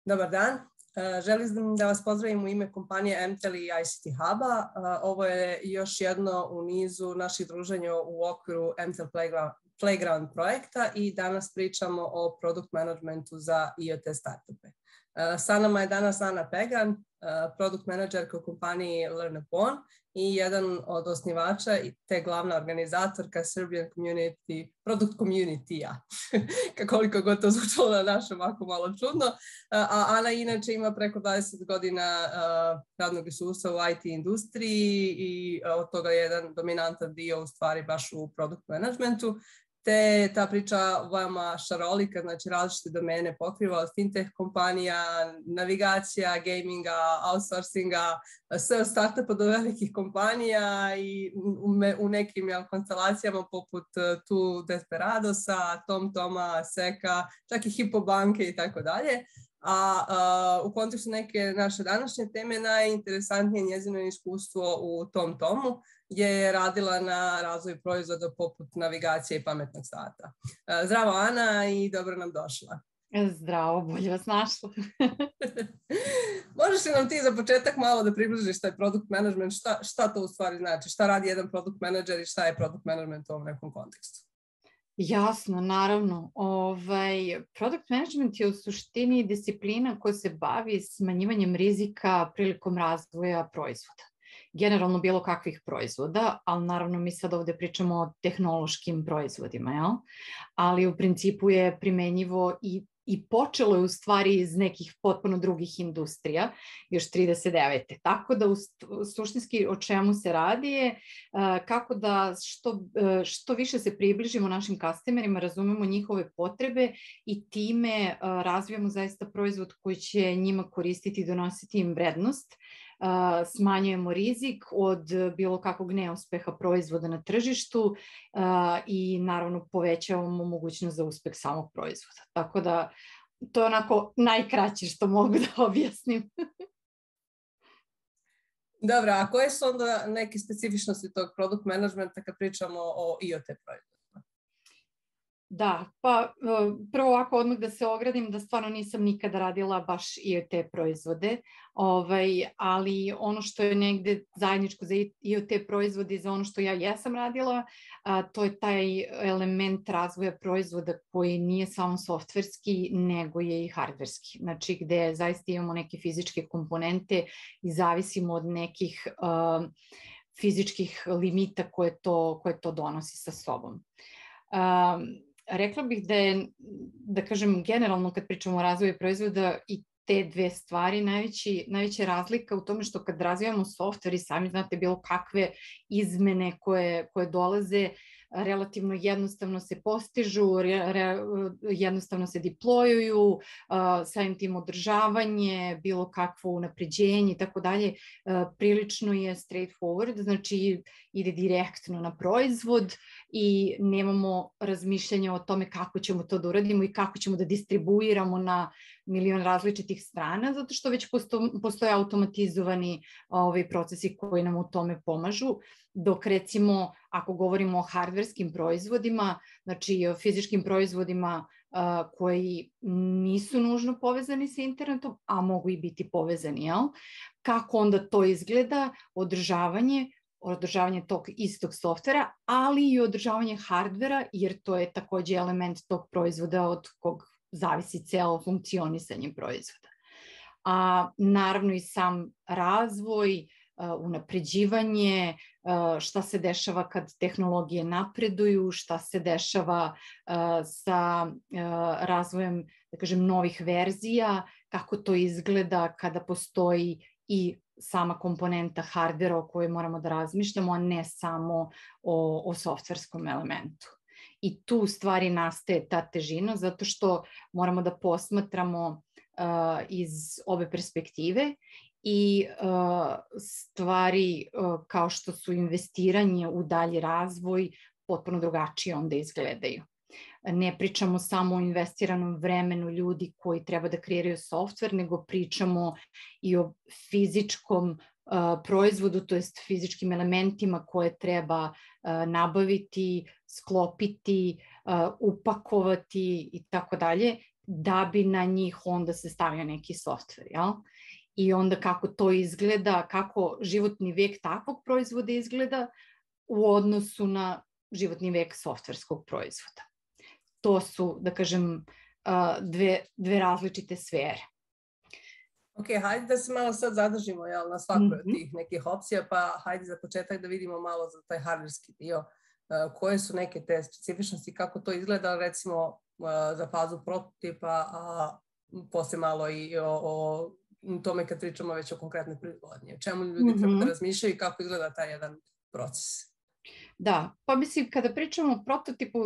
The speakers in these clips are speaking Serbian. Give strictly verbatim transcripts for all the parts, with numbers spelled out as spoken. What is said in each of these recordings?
Dobar dan. Želim da vas pozdravim u ime kompanije M T E L i I C T Huba. Ovo je još jedno u nizu naših druženja u okviru M T E L Playground, Playground projekta i danas pričamo o product managementu za I O T startupe. Sa nama je danas Ana Pegan, product managerka u kompaniji LearnUpon i jedan od osnivača te glavna organizatorka Serbian Community, Product Community-a. Koliko god to zvučalo na našem ovako malo čudno. A Ana inače ima preko dvadeset godina radnog iskustva u I T industriji i od toga je jedan dominantan dio u stvari baš u product managementu. Te ta priča veoma šarolika, znači različite domene pokriva od fintech kompanija, navigacija, gaminga, outsourcinga, sve od startupa do velikih kompanija i u nekim jel, konstelacijama poput tu Desperadosa, TomToma, Seka, čak i Hypo banke i tako dalje. A uh, u kontekstu neke naše današnje teme najinteresantnije njezino iskustvo u TomTomu gdje je radila na razvoju proizvoda poput navigacije i pametnog sata. Uh, zdravo Ana i dobro nam došla. Zdravo, bolje vas našla. Možeš li nam ti za početak malo da približiš taj product management, šta, šta to u stvari znači, šta radi jedan product manager i šta je product management u ovom nekom kontekstu? Jasno, naravno. Ovaj, product management je u suštini disciplina koja se bavi smanjivanjem rizika prilikom razvoja proizvoda. Generalno bilo kakvih proizvoda, ali naravno mi sad ovde pričamo o tehnološkim proizvodima, jel? Ali u principu je primenjivo i i počelo je u stvari iz nekih potpuno drugih industrija, još trideset devete. Tako da u suštinski o čemu se radi je kako da što, što više se približimo našim customerima, razumemo njihove potrebe i time razvijamo zaista proizvod koji će njima koristiti i donositi im vrednost. Smanjujemo rizik od bilo kakvog neuspeha proizvoda na tržištu i naravno povećavamo mogućnost za uspeh samog proizvoda. Tako da to je onako najkraće što mogu da objasnim. Dobro, a koje su onda neke specifičnosti tog product managementa kad pričamo o I O T proizvodima? Da, pa prvo ovako odmah da se ogradim da stvarno nisam nikada radila baš I O T proizvode, ovaj, ali ono što je negde zajedničko za I O T proizvode i za ono što ja jesam radila, a, to je taj element razvoja proizvoda koji nije samo softverski, nego je i hardverski. Znači gde zaista imamo neke fizičke komponente i zavisimo od nekih a, fizičkih limita koje to, koje to donosi sa sobom. A, Rekla bih da je, da kažem, generalno kad pričamo o razvoju proizvoda i te dve stvari, najveći, najveća razlika u tome što kad razvijamo softver i sami znate bilo kakve izmene koje, koje dolaze, relativno jednostavno se postižu, re, re, jednostavno se deployuju, uh, samim tim održavanje, bilo kakvo unapređenje i tako dalje, prilično je straightforward, znači ide direktno na proizvod i nemamo razmišljanja o tome kako ćemo to da uradimo i kako ćemo da distribuiramo na milion različitih strana, zato što već posto, postoje automatizovani ovi procesi koji nam u tome pomažu, dok recimo ako govorimo o hardverskim proizvodima, znači o fizičkim proizvodima uh, koji nisu nužno povezani sa internetom, a mogu i biti povezani, jel? Kako onda to izgleda, održavanje, održavanje tog istog softvera, ali i održavanje hardvera, jer to je takođe element tog proizvoda od kog zavisi celo funkcionisanje proizvoda. A naravno i sam razvoj, unapređivanje, šta se dešava kad tehnologije napreduju, šta se dešava sa razvojem, da kažem, novih verzija, kako to izgleda kada postoji i sama komponenta hardvera o kojoj moramo da razmišljamo, a ne samo o, o softverskom elementu. I tu u stvari nastaje ta težina, zato što moramo da posmatramo uh, iz ove perspektive i uh, stvari uh, kao što su investiranje u dalji razvoj potpuno drugačije onda izgledaju. Ne pričamo samo o investiranom vremenu ljudi koji treba da kreiraju softver, nego pričamo i o fizičkom uh, proizvodu, to jest fizičkim elementima koje treba uh, nabaviti, sklopiti, uh, upakovati i tako dalje. da bi na njih onda se stavio neki softver, jel? I onda kako to izgleda, kako životni vek takvog proizvoda izgleda u odnosu na životni vek softverskog proizvoda. To su, da kažem, dve, dve različite sfere. Ok, hajde da se malo sad zadržimo jel, na svakoj mm-hmm. od tih nekih opcija, pa hajde za početak da vidimo malo za taj hardverski dio. Uh, koje su neke te specifičnosti, kako to izgleda recimo uh, za fazu prototipa, a posle malo i o, o tome kad pričamo već o konkretnoj proizvodnji. O čemu ljudi mm-hmm. treba da razmišljaju i kako izgleda taj jedan proces. Da, pa mislim kada pričamo o prototipu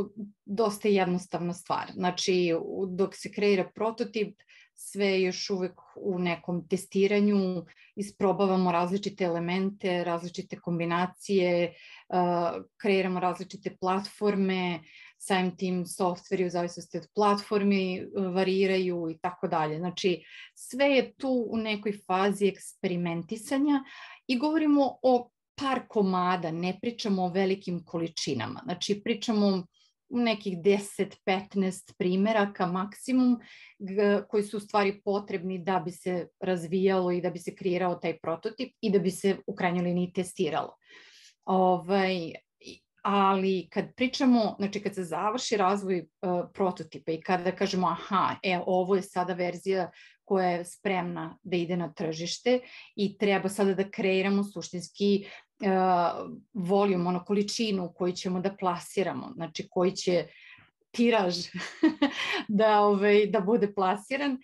dosta je jednostavna stvar. Znači dok se kreira prototip sve je još uvek u nekom testiranju, isprobavamo različite elemente, različite kombinacije, uh, kreiramo različite platforme, samim tim softveri u zavisnosti od platformi variraju i tako dalje. Znači sve je tu u nekoj fazi eksperimentisanja i govorimo o par komada, ne pričamo o velikim količinama. Znači pričamo nekih deset petnaest primeraka maksimum koji su u stvari potrebni da bi se razvijalo i da bi se kreirao taj prototip i da bi se u krajnjoj liniji testiralo. Ovaj, ali kad pričamo, znači kad se završi razvoj uh, prototipa i kada kažemo aha, e, ovo je sada verzija koja je spremna da ide na tržište i treba sada da kreiramo suštinski uh, voljum, ono količinu koju ćemo da plasiramo, znači koji će tiraž da, ovaj, da bude plasiran, uh,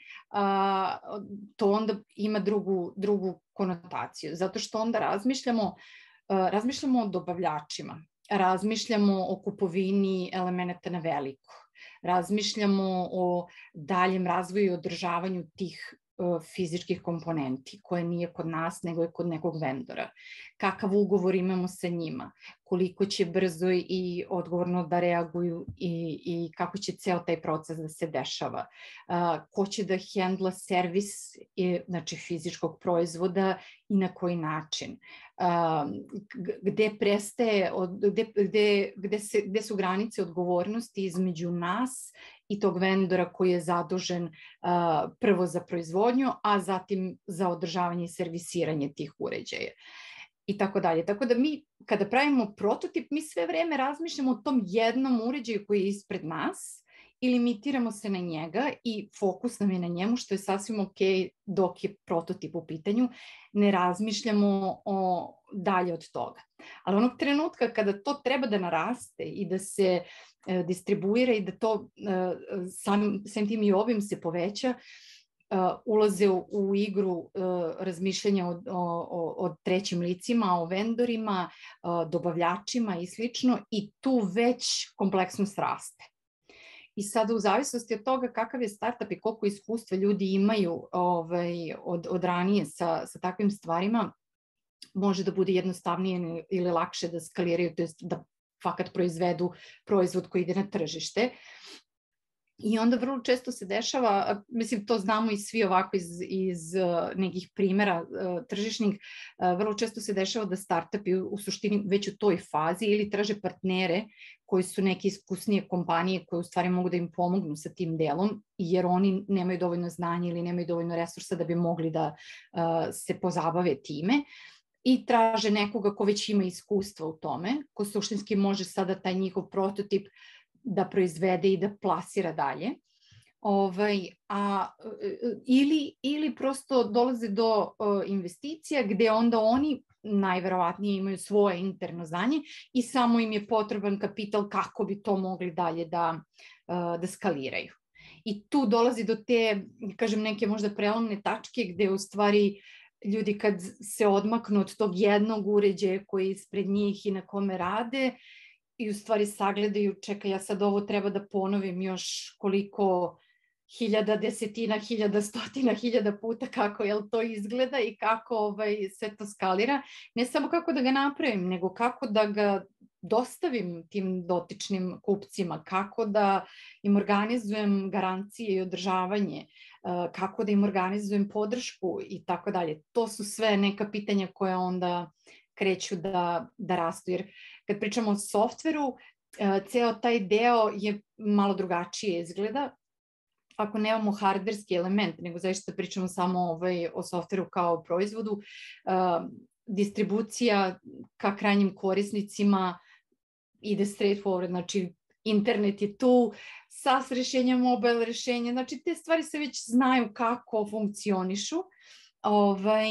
to onda ima drugu, drugu konotaciju, zato što onda razmišljamo, uh, razmišljamo o dobavljačima, razmišljamo o kupovini elemenata na veliko, razmišljamo o daljem razvoju i održavanju tih uh, fizičkih komponenti koje nije kod nas nego je kod nekog vendora. Kakav ugovor imamo sa njima, koliko će brzo i odgovorno da reaguju i, i kako će ceo taj proces da se dešava. Uh, ko će da hendla servis i, znači fizičkog proizvoda i na koji način. Uh, gde prestaje, gde, gde, gde, se, gde su granice odgovornosti između nas i tog vendora koji je zadužen uh, prvo za proizvodnju, a zatim za održavanje i servisiranje tih uređaja. I tako dalje. Tako da mi, kada pravimo prototip, mi sve vreme razmišljamo o tom jednom uređaju koji je ispred nas i limitiramo se na njega i fokus nam je na njemu, što je sasvim ok dok je prototip u pitanju. Ne razmišljamo o dalje od toga. Ali onog trenutka kada to treba da naraste i da se e, distribuira i da to e, sam, sam tim i obim se poveća, Uh, ulaze u, u igru uh, razmišljanja o, o, o trećim licima, o vendorima, uh, dobavljačima i slično i tu već kompleksnost raste. I sada u zavisnosti od toga kakav je startup i koliko iskustva ljudi imaju ovaj, od, od ranije sa, sa takvim stvarima, može da bude jednostavnije ili lakše da skaliraju, to jest da fakat proizvedu proizvod koji ide na tržište. I onda vrlo često se dešava, mislim to znamo i svi ovako iz, iz nekih primjera tržišnih, vrlo često se dešava da startupi u suštini već u toj fazi ili traže partnere koji su neke iskusnije kompanije koje u stvari mogu da im pomognu sa tim delom, jer oni nemaju dovoljno znanja ili nemaju dovoljno resursa da bi mogli da uh, se pozabave time. I traže nekoga ko već ima iskustva u tome, ko suštinski može sada taj njihov prototip da proizvede i da plasira dalje. Ovaj, a, ili, ili prosto dolaze do uh, investicija gde onda oni najverovatnije imaju svoje interno znanje i samo im je potreban kapital kako bi to mogli dalje da, uh, da skaliraju. I tu dolazi do te, kažem, neke možda prelomne tačke gde u stvari ljudi kad se odmaknu od tog jednog uređaja koji je ispred njih i na kome rade, i u stvari sagledaju, čekaj, ja sad ovo treba da ponovim još koliko hiljada, desetina, hiljada, stotina, hiljada puta kako jel to izgleda i kako ovaj, sve to skalira. Ne samo kako da ga napravim, nego kako da ga dostavim tim dotičnim kupcima, kako da im organizujem garancije i održavanje, kako da im organizujem podršku i tako dalje. To su sve neka pitanja koja onda kreću da, da rastu. Jer kad pričamo o softveru, ceo taj deo je malo drugačije izgleda. ako nemamo hardverski element, nego zaista pričamo samo ovaj, o softveru kao proizvodu, uh, distribucija ka krajnjim korisnicima ide straightforward, znači internet je tu, SaaS rešenja, mobile rešenja, znači te stvari se već znaju kako funkcionišu ovaj,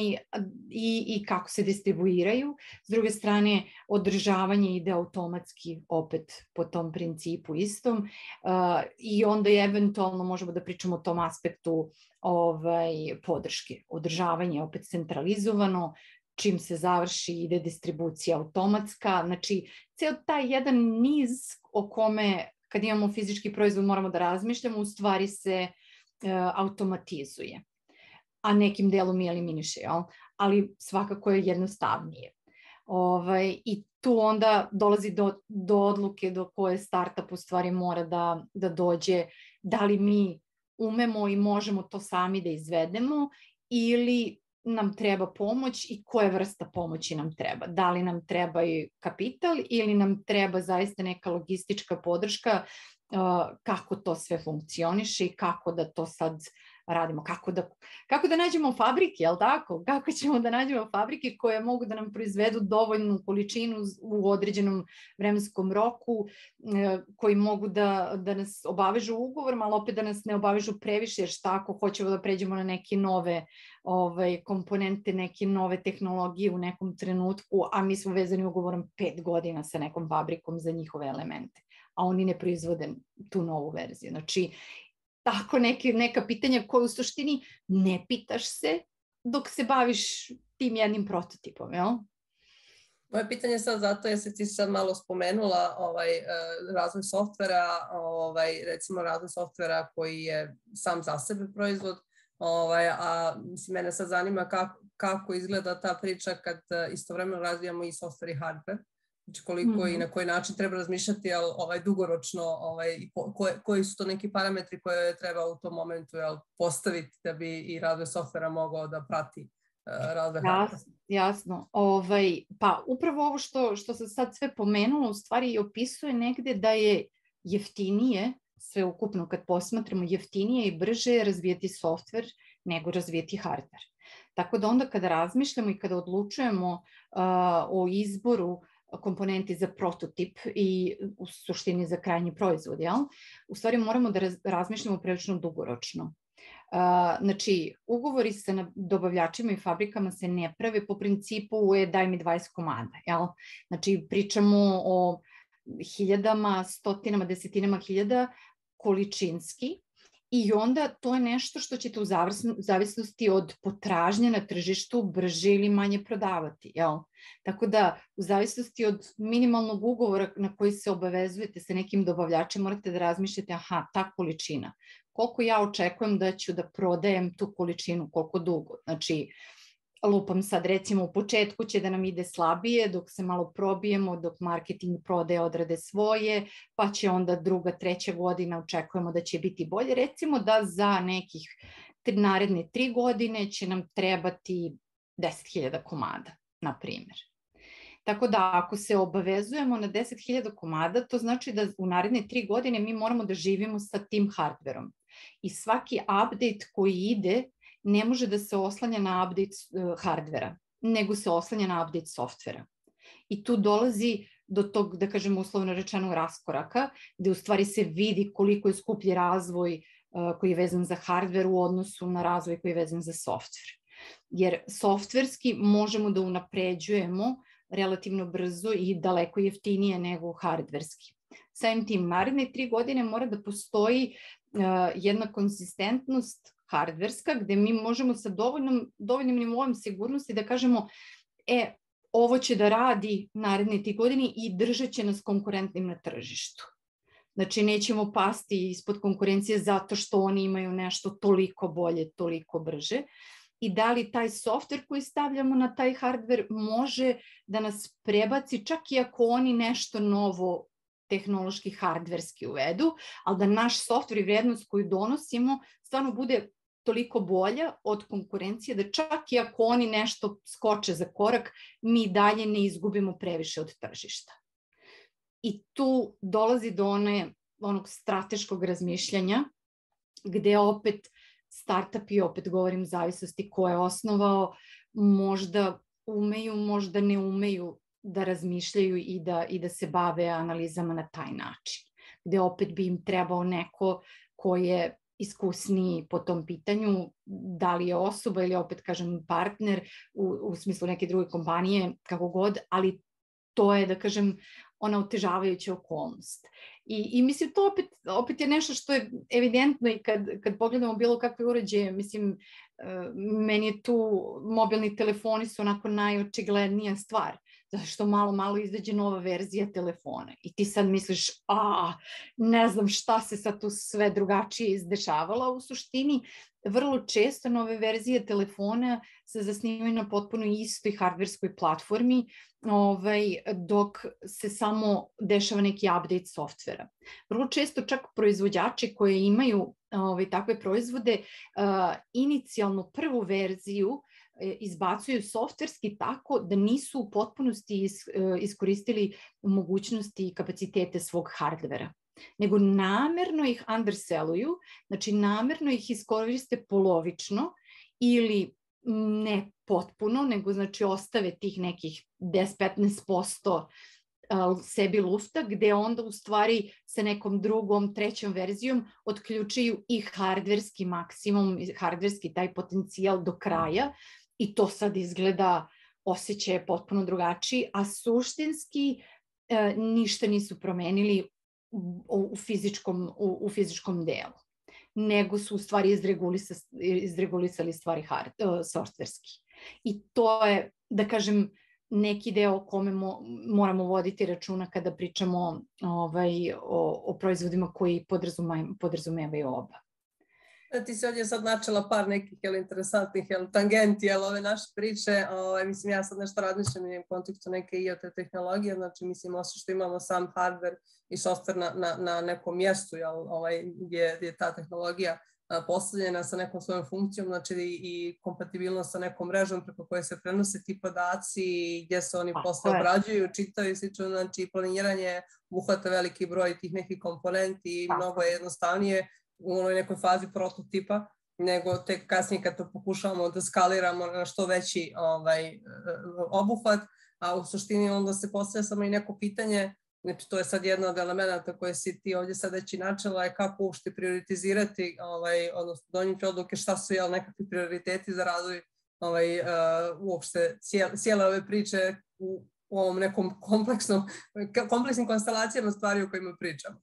i, i kako se distribuiraju. S druge strane, održavanje ide automatski opet po tom principu istom uh, i onda je eventualno možemo da pričamo o tom aspektu ovaj, podrške. Održavanje opet centralizovano, čim se završi ide distribucija automatska, znači ceo taj jedan niz o kome kad imamo fizički proizvod moramo da razmišljamo, u stvari se uh, automatizuje, a nekim delom i eliminiše, jel? Ali svakako je jednostavnije. Ovaj, I tu onda dolazi do, do odluke do koje startup u stvari mora da, da dođe, da li mi umemo i možemo to sami da izvedemo ili nam treba pomoć i koja vrsta pomoći nam treba. Da li nam treba i kapital ili nam treba zaista neka logistička podrška uh, kako to sve funkcioniše i kako da to sad radimo, kako da, kako da nađemo fabrike, jel tako? Kako ćemo da nađemo fabrike koje mogu da nam proizvedu dovoljnu količinu u određenom vremenskom roku, koji mogu da, da nas obavežu ugovorom, ali opet da nas ne obavežu previše, jer šta ako hoćemo da pređemo na neke nove ovaj, komponente, neke nove tehnologije u nekom trenutku, a mi smo vezani ugovorom pet godina sa nekom fabrikom za njihove elemente, a oni ne proizvode tu novu verziju. Znači, tako neke, neka pitanja koje u suštini ne pitaš se dok se baviš tim jednim prototipom, jel? Moje pitanje je sad zato jer se ti sad malo spomenula ovaj, razvoj softvera, ovaj, recimo razvoj softvera koji je sam za sebe proizvod, ovaj, a mislim, mene sad zanima kako, kako izgleda ta priča kad istovremeno razvijamo i softver i hardware. Znači koliko mm-hmm. i na koji način treba razmišljati, jel, ovaj, dugoročno, ovaj, koje, koji su to neki parametri koje treba u tom momentu, jel, postaviti da bi i razvoj softvera mogao da prati uh, razvoj hardvera. Jasno, jasno. Ovaj, pa upravo ovo što, što se sad sve pomenulo u stvari i opisuje negde da je jeftinije, sve ukupno kad posmatramo, jeftinije i brže razvijeti softver nego razvijeti hardver. Tako da onda kada razmišljamo i kada odlučujemo uh, o izboru komponenti za prototip i u suštini za krajnji proizvod, jel? U stvari moramo da raz, razmišljamo prilično dugoročno. Uh, znači, ugovori sa dobavljačima i fabrikama se ne prave po principu e, daj mi dvadeset komada, jel? Znači, pričamo o hiljadama, stotinama, desetinama hiljada količinski. I onda to je nešto što ćete u zavisnosti od potražnje na tržištu brže ili manje prodavati. Jel? Tako da u zavisnosti od minimalnog ugovora na koji se obavezujete sa nekim dobavljačem morate da razmišljate, aha, ta količina. Koliko ja očekujem da ću da prodajem tu količinu, koliko dugo. Znači, lupam sad, recimo u početku će da nam ide slabije dok se malo probijemo, dok marketing prodaje odrade svoje, pa će onda druga, treća godina očekujemo da će biti bolje. Recimo da za nekih naredne tri godine će nam trebati deset hiljada komada, na primjer. Tako da ako se obavezujemo na deset hiljada komada, to znači da u naredne tri godine mi moramo da živimo sa tim hardverom. I svaki update koji ide ne može da se oslanja na update uh, hardvera, nego se oslanja na update softvera. I tu dolazi do tog, da kažem uslovno rečeno, raskoraka, gde u stvari se vidi koliko je skuplji razvoj uh, koji je vezan za hardver u odnosu na razvoj koji je vezan za softver. Jer softverski možemo da unapređujemo relativno brzo i daleko jeftinije nego hardverski. Samim tim, naredne tri godine mora da postoji uh, jedna konsistentnost hardverska, gde mi možemo sa dovoljnom, dovoljnim nivoom sigurnosti da kažemo, e, ovo će da radi naredne tri godine i držat će nas konkurentnim na tržištu. Znači, nećemo pasti ispod konkurencije zato što oni imaju nešto toliko bolje, toliko brže. I da li taj softver koji stavljamo na taj hardver može da nas prebaci, čak i ako oni nešto novo tehnološki hardverski uvedu, ali da naš softver i vrednost koju donosimo stvarno bude toliko bolja od konkurencije da čak i ako oni nešto skoče za korak, mi dalje ne izgubimo previše od tržišta. I tu dolazi do one, onog strateškog razmišljanja gde opet startupi, opet govorim zavisnosti ko je osnovao, možda umeju, možda ne umeju da razmišljaju i da, i da se bave analizama na taj način. Gde opet bi im trebao neko ko je iskusniji po tom pitanju, da li je osoba ili opet kažem partner u, u smislu neke druge kompanije, kako god, ali to je, da kažem, ona otežavajuća okolnost. I, i mislim, to opet, opet je nešto što je evidentno i kad, kad pogledamo bilo kakve uređaje, mislim, meni je tu mobilni telefoni su onako najočiglednija stvar, zato što malo, malo izađe nova verzija telefona i ti sad misliš, a, ne znam šta se sad tu sve drugačije izdešavalo, u suštini vrlo često nove verzije telefona se zasnivaju na potpuno istoj hardverskoj platformi, ovaj, dok se samo dešava neki update softvera. Vrlo često čak proizvođači koji imaju ovaj, takve proizvode, uh, inicijalno prvu verziju izbacuju softverski tako da nisu u potpunosti is, iskoristili mogućnosti i kapacitete svog hardvera, nego namerno ih underselluju, znači namerno ih iskoriste polovično ili ne potpuno, nego znači ostave tih nekih deset do petnaest posto sebi lufta, gde onda u stvari sa nekom drugom, trećom verzijom otključuju i hardverski maksimum, hardverski taj potencijal do kraja i to sad izgleda, osjećaj je potpuno drugačiji, a suštinski e, ništa nisu promenili u, u, fizičkom, u, u fizičkom delu, nego su u stvari izregulisa, izregulisali stvari hard, uh, softverski. I to je, da kažem, neki deo o kome mo, moramo voditi računa kada pričamo ovaj, o, o proizvodima koji podrazumevaju oba. Ti si ovdje sad načela par nekih jel, interesantnih jel, tangenti, jel, ove naše priče. Ovaj, mislim, ja sad nešto razmišljam u kontekstu neke I O T tehnologije, znači mislim, osim što imamo sam hardware i software na, na, na nekom mjestu, jel, ovaj, gdje, gdje je ta tehnologija a, postavljena sa nekom svojom funkcijom, znači i, i kompatibilnost sa nekom mrežom preko koje se prenose ti podaci, gdje se oni posle obrađuju, čitaju, slično, znači planiranje uhvata veliki broj tih nekih komponenti i mnogo je jednostavnije u onoj nekoj fazi prototipa, nego tek kasnije kad to pokušavamo da skaliramo na što veći ovaj, obuhvat, a u suštini onda se postavlja samo i neko pitanje, znači to je sad jedna od elemenata koje si ti ovdje sad već i načela, je kako uopšte prioritizirati, ovaj, odnosno donijeti odluke šta su jel, nekakvi prioriteti za razvoj ovaj, uh, uopšte cijele, cijele ove priče u, u ovom nekom kompleksnom, kompleksnim konstelacijama stvari o kojima pričamo.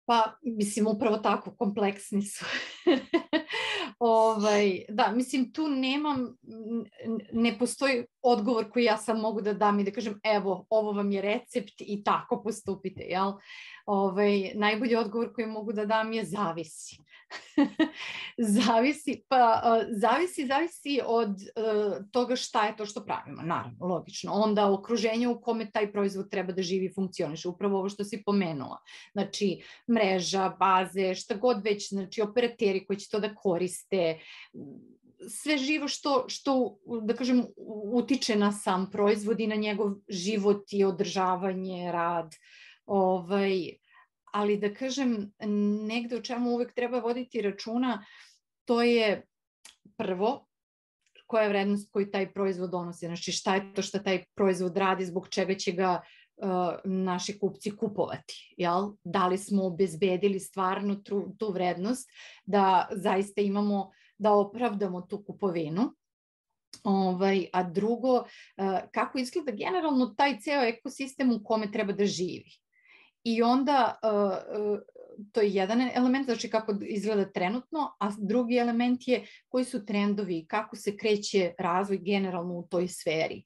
Pa, mislim, upravo tako, kompleksni su. ovaj, da, mislim, tu nemam, ne postoji odgovor koji ja sam mogu da dam i da kažem, evo, ovo vam je recept i tako postupite, jel? Ovaj, najbolji odgovor koji mogu da dam je zavisi. zavisi, pa zavisi, zavisi od uh, toga šta je to što pravimo, naravno, logično. Onda okruženje u kome taj proizvod treba da živi i funkcioniše, upravo ovo što si pomenula. Znači, mreža, baze, šta god već, znači operateri koji će to da koriste, sve živo što, što, da kažem, utiče na sam proizvod i na njegov život i održavanje, rad. Ovaj, ali da kažem, negde o čemu uvek treba voditi računa, to je prvo, koja je vrednost koju taj proizvod donosi, znači šta je to što taj proizvod radi, zbog čega će ga uh, naši kupci kupovati, jel? Da li smo obezbedili stvarno tu, tu vrednost, da zaista imamo, da opravdamo tu kupovinu. Ovaj, a drugo, uh, kako izgleda generalno taj ceo ekosistem u kome treba da živi. I onda, uh, to je jedan element, znači kako izgleda trenutno, a drugi element je koji su trendovi, kako se kreće razvoj generalno u toj sferi.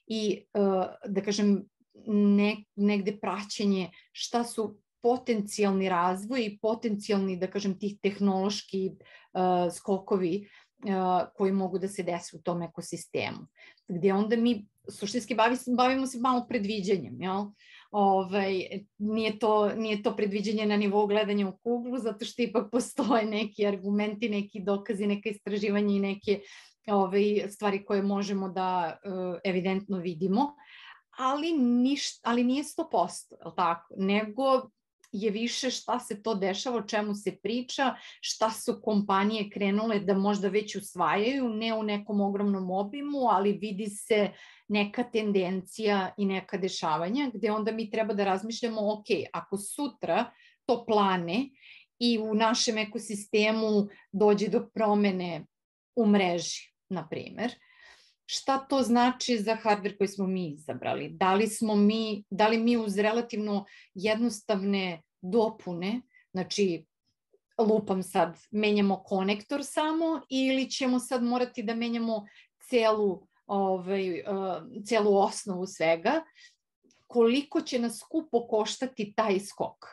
I, uh, da kažem, ne, negde praćenje šta su potencijalni razvoj i potencijalni, da kažem, tih tehnološki uh, skokovi uh, koji mogu da se desi u tom ekosistemu. Gdje onda mi suštinski bavi, bavimo se malo predviđanjem, jel? Ovaj, nije, to, nije to predviđenje na nivou gledanja u kuglu, zato što ipak postoje neki argumenti, neki dokazi, neka istraživanja i neke ovaj, stvari koje možemo da uh, evidentno vidimo, ali, niš, ali nije sto posto, je li tako? Nego je više šta se to dešava, o čemu se priča, šta su kompanije krenule da možda već usvajaju, ne u nekom ogromnom obimu, ali vidi se neka tendencija i neka dešavanja, gde onda mi treba da razmišljamo, ok, ako sutra to plane i u našem ekosistemu dođe do promene u mreži, na primer, šta to znači za hardware koji smo mi izabrali? Da li smo mi, da li mi uz relativno jednostavne dopune, znači lupam sad, menjamo konektor samo ili ćemo sad morati da menjamo celu, ovaj, celu osnovu svega, koliko će nas skupo koštati taj skok?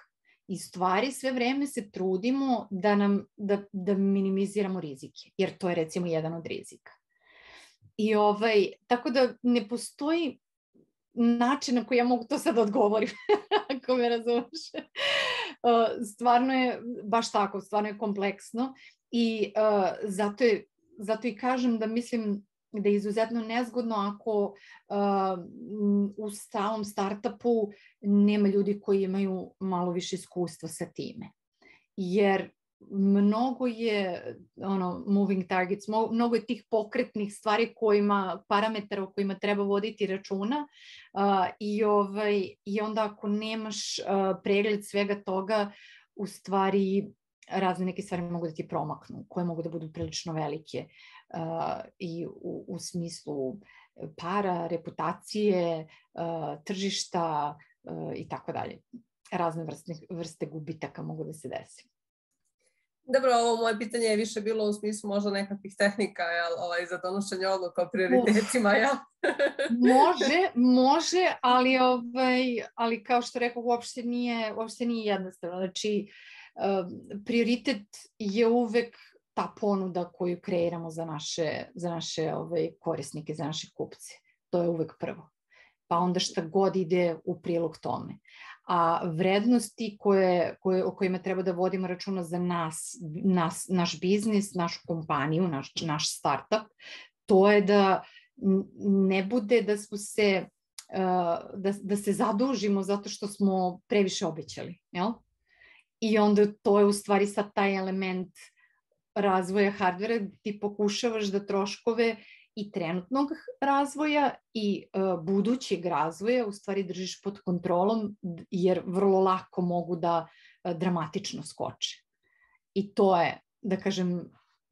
I stvari sve vreme se trudimo da, nam, da, da minimiziramo rizike, jer to je recimo jedan od rizika. I ovaj, tako da ne postoji način na koji ja mogu to sad odgovorim, ako me razumeš. Stvarno je baš tako, stvarno je kompleksno i uh, zato, je, zato i kažem da mislim da je izuzetno nezgodno ako uh, u samom startupu nema ljudi koji imaju malo više iskustva sa time. Jer mnogo je ono, moving targets, mnogo je tih pokretnih stvari kojima, parametara o kojima treba voditi računa uh, i, ovaj, i onda ako nemaš uh, pregled svega toga, u stvari razne neke stvari mogu da ti promaknu, koje mogu da budu prilično velike uh, i u, u smislu para, reputacije, uh, tržišta uh, i tako dalje. Razne vrste, vrste gubitaka mogu da se desi. Dobro, ovo moje pitanje je više bilo u smislu možda nekakvih tehnika, jel, ovaj, za donošenje odluka o prioritetima, jel? Može, može, ali, ovaj, ali kao što rekao, uopšte nije, uopšte nije jednostavno. Znači, um, prioritet je uvek ta ponuda koju kreiramo za naše, za naše ovaj, korisnike, za naše kupce. To je uvek prvo. Pa onda šta god ide u prilog tome. A vrednosti koje, koje, o kojima treba da vodimo računa za nas, nas, naš biznis, našu kompaniju, naš, naš startup, to je da ne bude da smo se, da, da se zadužimo zato što smo previše obećali, jel? I onda to je u stvari sad taj element razvoja hardvera, ti pokušavaš da troškove i trenutnog razvoja i uh, budućeg razvoja u stvari držiš pod kontrolom, jer vrlo lako mogu da uh, dramatično skoče. I to je, da kažem,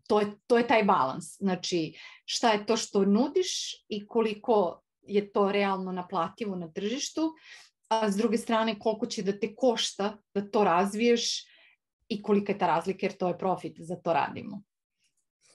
to je, to je taj balans. Znači, šta je to što nudiš i koliko je to realno naplativo na tržištu, a s druge strane koliko će da te košta da to razviješ i kolika je ta razlika, jer to je profit, za to radimo.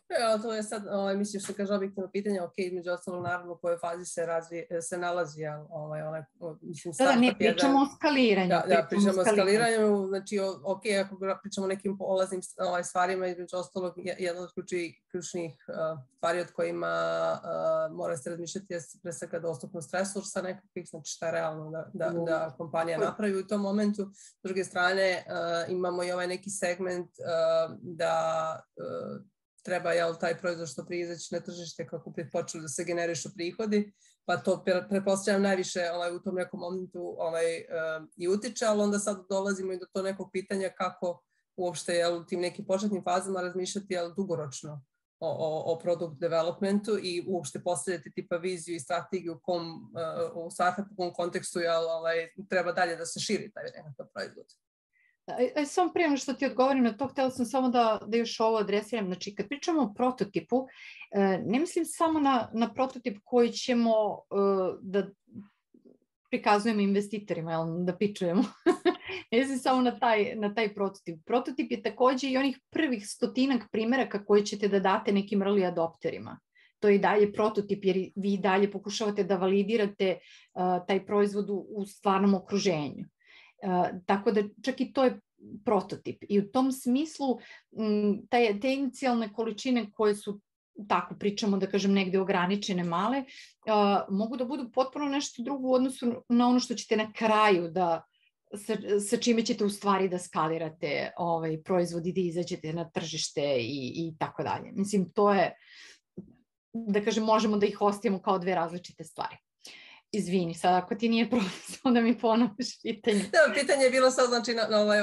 Evo, to je sad, ovaj, mislim što kaže objektivno pitanje, ok, između ostalog naravno u kojoj fazi se, razvije, se nalazi, ovaj, onaj, mislim, startup. Da, ne, pričamo jedan, o skaliranju. Da, da pričamo o skaliranju, znači, ok, ako pričamo o nekim polaznim ovaj, stvarima, između ostalog, jedna od ključi, ključnih uh, stvari od kojima uh, mora se razmišljati je pre svega dostupnost resursa nekakvih, znači šta je realno da, da, da kompanija napravi u tom momentu. S druge strane, uh, imamo i ovaj neki segment uh, da uh, treba, jel, taj proizvod što prije izaći na tržište kako počeli da se generišu prihodi, pa to pretpostavljam najviše ovaj, u tom nekom momentu ovaj, uh, i utiče, ali onda sad dolazimo i do to nekog pitanja kako uopšte, jel, u tim nekim početnim fazama razmišljati, jel, dugoročno o, o, o product developmentu i uopšte postavljati tipa viziju i strategiju u kom, uh, u startupu, u kom kontekstu, jel, ovaj, treba dalje da se širi taj nekakav proizvod. Samo prije što ti odgovorim na to, htjela sam samo da, da još ovo adresiram. Znači, kad pričamo o prototipu, ne mislim samo na, na prototip koji ćemo da prikazujemo investitorima, jel, da pičujemo. Ne mislim samo na taj, na taj prototip. Prototip je takođe i onih prvih stotinak primjeraka koje ćete da date nekim early adopterima. To je i dalje prototip, jer vi dalje pokušavate da validirate uh, taj proizvod u, u stvarnom okruženju. Uh, tako da čak i to je prototip i u tom smislu m, taj, te inicijalne količine koje su, tako pričamo da kažem negde ograničene male, uh, mogu da budu potpuno nešto drugo u odnosu na ono što ćete na kraju da sa, sa čime ćete u stvari da skalirate ovaj, proizvod i da izađete na tržište i, i tako dalje. Mislim, to je, da kažem, možemo da ih ostavimo kao dve različite stvari. Izvini, sad ako ti nije problem, onda mi ponoviš pitanje. Da, pitanje je bilo sad, znači, na, na ovaj,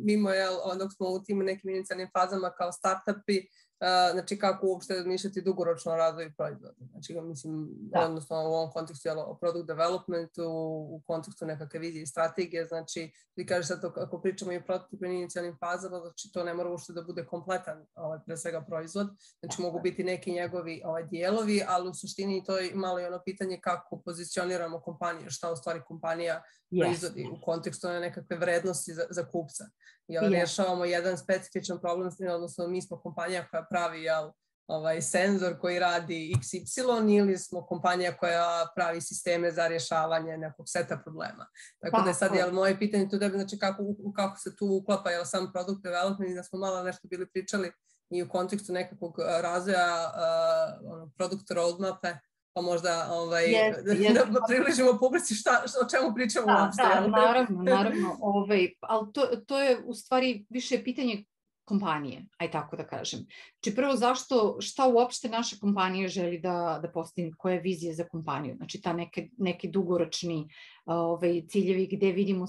mimo, jel, dok smo u tim nekim inicijalnim fazama kao startupi, uh, znači kako uopšte razmišljati dugoročno o razvoju proizvoda. Znači, mislim, da. Odnosno u ovom kontekstu, jel, o product developmentu, u kontekstu nekakve vizije i strategije, znači, ti kažeš sad, ako pričamo i o prototipnim inicijalnim fazama, znači to ne mora uopšte da bude kompletan, ovaj, pre svega, proizvod, znači mogu biti neki njegovi ovaj, dijelovi, ali u suštini to je malo i ono pitanje kako pozicioniramo kompaniju, šta u stvari kompanija yes. proizvodi u kontekstu nekakve vrednosti za, za kupca. Jel, yes. rješavamo jedan specifičan problem, odnosno mi smo kompanija koja pravi, jel, ovaj senzor koji radi iks ipsilon ili smo kompanija koja pravi sisteme za rješavanje nekog seta problema. Tako pa, da je sad, jel, moje pitanje tu tebe, znači kako, kako se tu uklapa, jel, sam product development, da smo malo nešto bili pričali i u kontekstu nekakvog razvoja uh, product roadmape, pa možda ovaj, yes, yes. da približimo publici šta, šta, o čemu pričamo da, uopšte. Da, naravno, naravno. Ovaj, ali to, to je u stvari više pitanje kompanije, aj tako da kažem. Znači prvo zašto, šta uopšte naša kompanija želi da, da postigne, koja je vizija za kompaniju, znači ta neke, neki dugoročni ovaj, ciljevi gde vidimo,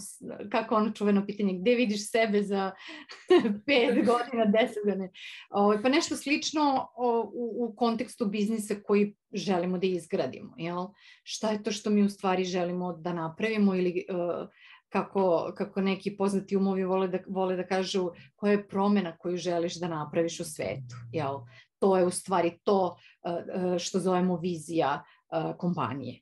kako ono čuveno pitanje, gde vidiš sebe za pet godina, deset godina, ovaj, pa nešto slično u, u kontekstu biznisa koji želimo da izgradimo, jel? Šta je to što mi u stvari želimo da napravimo ili uh, Kako, kako neki poznati umovi vole da, vole da kažu koja je promjena koju želiš da napraviš u svetu. Jel? To je u stvari to uh, što zovemo vizija uh, kompanije.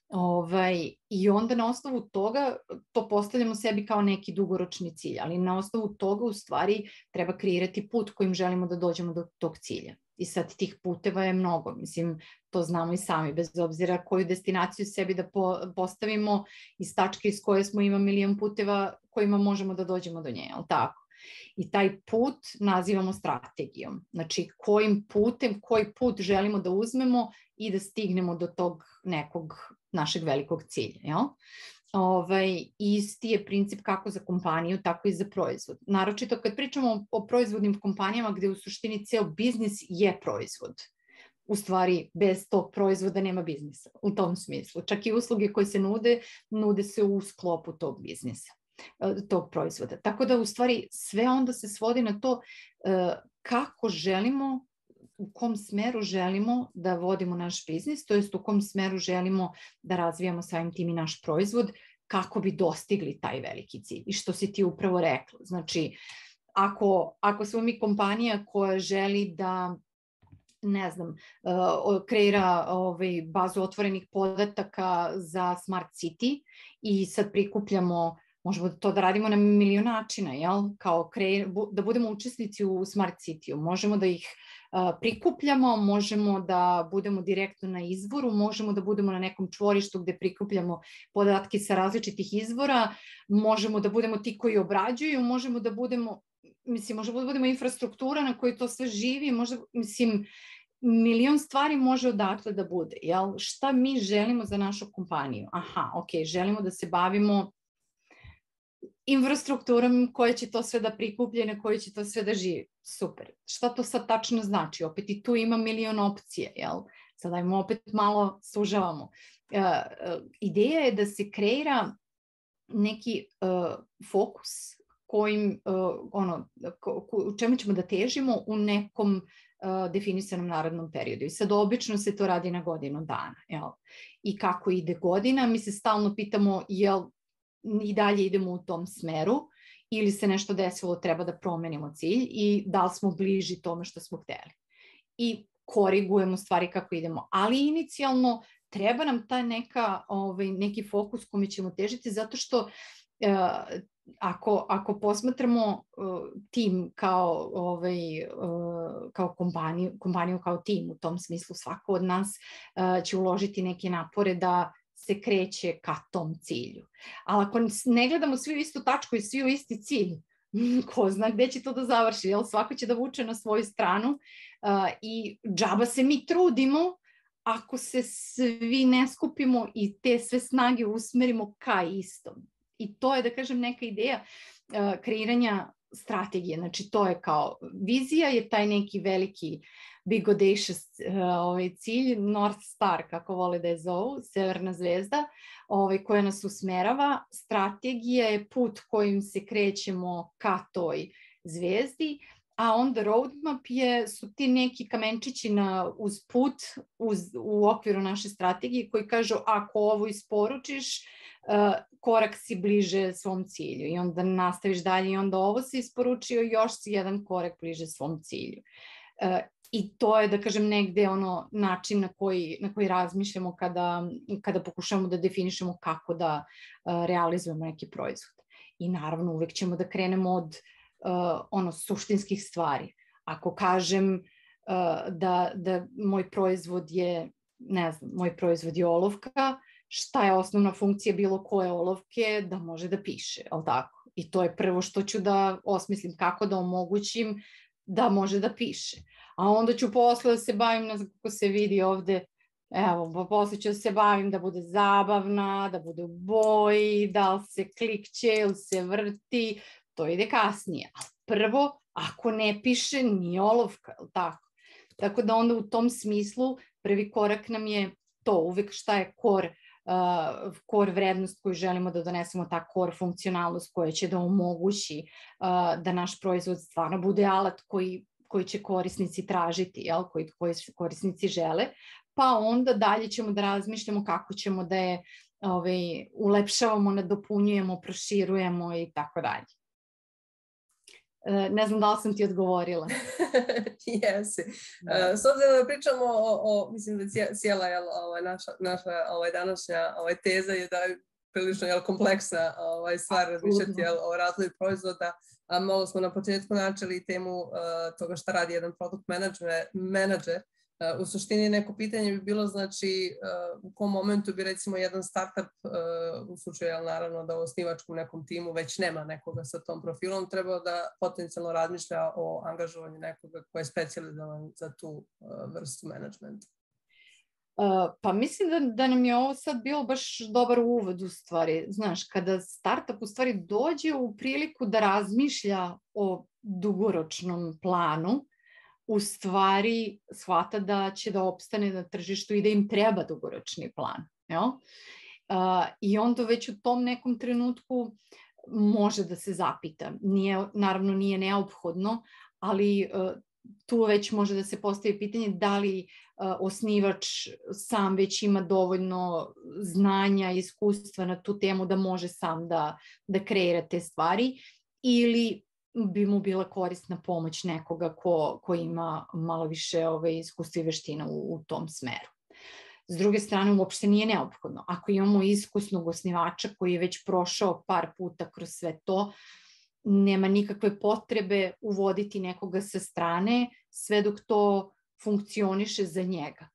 Ovaj, I onda na osnovu toga to postavljamo sebi kao neki dugoročni cilj, ali na osnovu toga u stvari treba kreirati put kojim želimo da dođemo do tog cilja. I sad tih puteva je mnogo, mislim, to znamo i sami, bez obzira koju destinaciju sebi da po, postavimo iz tačke iz koje smo ima milion puteva kojima možemo da dođemo do nje, ali tako? I taj put nazivamo strategijom, znači kojim putem, koji put želimo da uzmemo i da stignemo do tog nekog našeg velikog cilja, jel? Ovaj, isti je princip kako za kompaniju, tako i za proizvod. Naročito kad pričamo o proizvodnim kompanijama gde u suštini ceo biznis je proizvod. U stvari, bez tog proizvoda nema biznisa, u tom smislu. Čak i usluge koje se nude, nude se u sklopu tog biznisa, tog proizvoda. Tako da u stvari sve onda se svodi na to kako želimo, u kom smeru želimo da vodimo naš biznis, to jest u kom smeru želimo da razvijamo samim tim i naš proizvod, kako bi dostigli taj veliki cilj. I što si ti upravo rekla. Znači, ako, ako smo mi kompanija koja želi da, ne znam, uh, kreira ovaj, bazu otvorenih podataka za Smart City i sad prikupljamo, možemo to da radimo na milion načina, jel? Kao kreir, da budemo učesnici u Smart City-u, možemo da ih prikupljamo, možemo da budemo direktno na izvoru, možemo da budemo na nekom čvorištu gde prikupljamo podatke sa različitih izvora, možemo da budemo ti koji obrađuju, možemo da budemo, mislim, možemo da budemo infrastruktura na kojoj to sve živi, možda, mislim, milion stvari može odatle da bude, jel? Šta mi želimo za našu kompaniju? Aha, ok, želimo da se bavimo infrastrukturom koja će to sve da prikuplje i na kojoj će to sve da živi. Super. Šta to sad tačno znači? Opet i tu ima milion opcije, jel? Sad ajmo opet malo sužavamo. Uh, uh, ideja je da se kreira neki uh, fokus kojim, uh, ono, ko, ko, u čemu ćemo da težimo u nekom uh, definisanom narednom periodu. I sad obično se to radi na godinu dana, jel? I kako ide godina, mi se stalno pitamo jel i dalje idemo u tom smeru ili se nešto desilo, treba da promenimo cilj i da li smo bliži tome što smo hteli. I korigujemo stvari kako idemo. Ali inicijalno treba nam ta neka, ovaj, neki fokus kome ćemo težiti zato što uh, ako, ako posmatramo uh, tim kao, ovaj, uh, kao kompaniju, kompaniju kao tim u tom smislu, svako od nas uh, će uložiti neke napore da se kreće ka tom cilju. Ali ako ne gledamo svi u istu tačku i svi u isti cilj, ko zna gde će to da završi, jel? Svako će da vuče na svoju stranu uh, i džaba se mi trudimo ako se svi ne skupimo i te sve snage usmerimo ka istom. I to je, da kažem, neka ideja uh, kreiranja strategije. Znači to je kao, vizija je taj neki veliki big audacious uh, ovaj cilj, North Star, kako vole da je zovu, severna zvezda, ovaj, koja nas usmerava. Strategija je put kojim se krećemo ka toj zvezdi, a onda roadmap je, su ti neki kamenčići na, uz put uz, u okviru naše strategije koji kažu ako ovo isporučiš, uh, korak si bliže svom cilju i onda nastaviš dalje i onda ovo si isporučio, još si jedan korak bliže svom cilju. Uh, I to je, da kažem, negde ono način na koji, na koji razmišljamo kada, kada pokušamo da definišemo kako da uh, realizujemo neki proizvod. I naravno uvek ćemo da krenemo od uh, ono suštinskih stvari. Ako kažem uh, da, da moj proizvod je, ne znam, moj proizvod je olovka, šta je osnovna funkcija bilo koje olovke, da može da piše, ali tako? I to je prvo što ću da osmislim, kako da omogućim da može da piše. A onda ću posle da se bavim, ne znam kako se vidi ovde, evo, pa posle ću da se bavim da bude zabavna, da bude u boji, da li se klikće ili se vrti, to ide kasnije. A prvo, ako ne piše, nije olovka, ili tako? Tako da onda u tom smislu prvi korak nam je to, uvek šta je core, uh, core vrednost koju želimo da donesemo, ta core funkcionalnost koja će da omogući uh, da naš proizvod stvarno bude alat koji koji će korisnici tražiti, jel? Koji, koji korisnici žele, pa onda dalje ćemo da razmišljamo kako ćemo da je ovaj, ulepšavamo, nadopunjujemo, proširujemo i tako dalje. Ne znam da li sam ti odgovorila. Jesi. Uh, s obzirom da pričamo o, o mislim da cijela jel, ovaj, naša, naša ovaj, današnja ovaj, teza je da je prilično jel, kompleksna ovaj, stvar razmišljati jel, o razvoju proizvoda. A malo smo na početku načeli temu uh, toga šta radi jedan product manager. Uh, u suštini neko pitanje bi bilo znači uh, u kom momentu bi recimo jedan startup uh, u slučaju jel, naravno da u osnivačkom nekom timu već nema nekoga sa tom profilom, trebao da potencijalno razmišlja o angažovanju nekoga koji je specijalizovan za tu uh, vrstu menadžmenta. Uh, pa mislim da, da nam je ovo sad bilo baš dobar uvod u stvari. Znaš, kada startup u stvari dođe u priliku da razmišlja o dugoročnom planu, u stvari shvata da će da opstane na tržištu i da im treba dugoročni plan. Jel? Uh, I onda već u tom nekom trenutku može da se zapita. Nije, naravno nije neophodno, ali uh, tu već može da se postavi pitanje da li uh, osnivač sam već ima dovoljno znanja i iskustva na tu temu da može sam da, da kreira te stvari ili bi mu bila korisna pomoć nekoga ko, ko ima malo više ove, iskustva i veština u, u tom smeru. S druge strane, uopšte nije neophodno. Ako imamo iskusnog osnivača koji je već prošao par puta kroz sve to, nema nikakve potrebe uvoditi nekoga sa strane sve dok to funkcioniše za njega.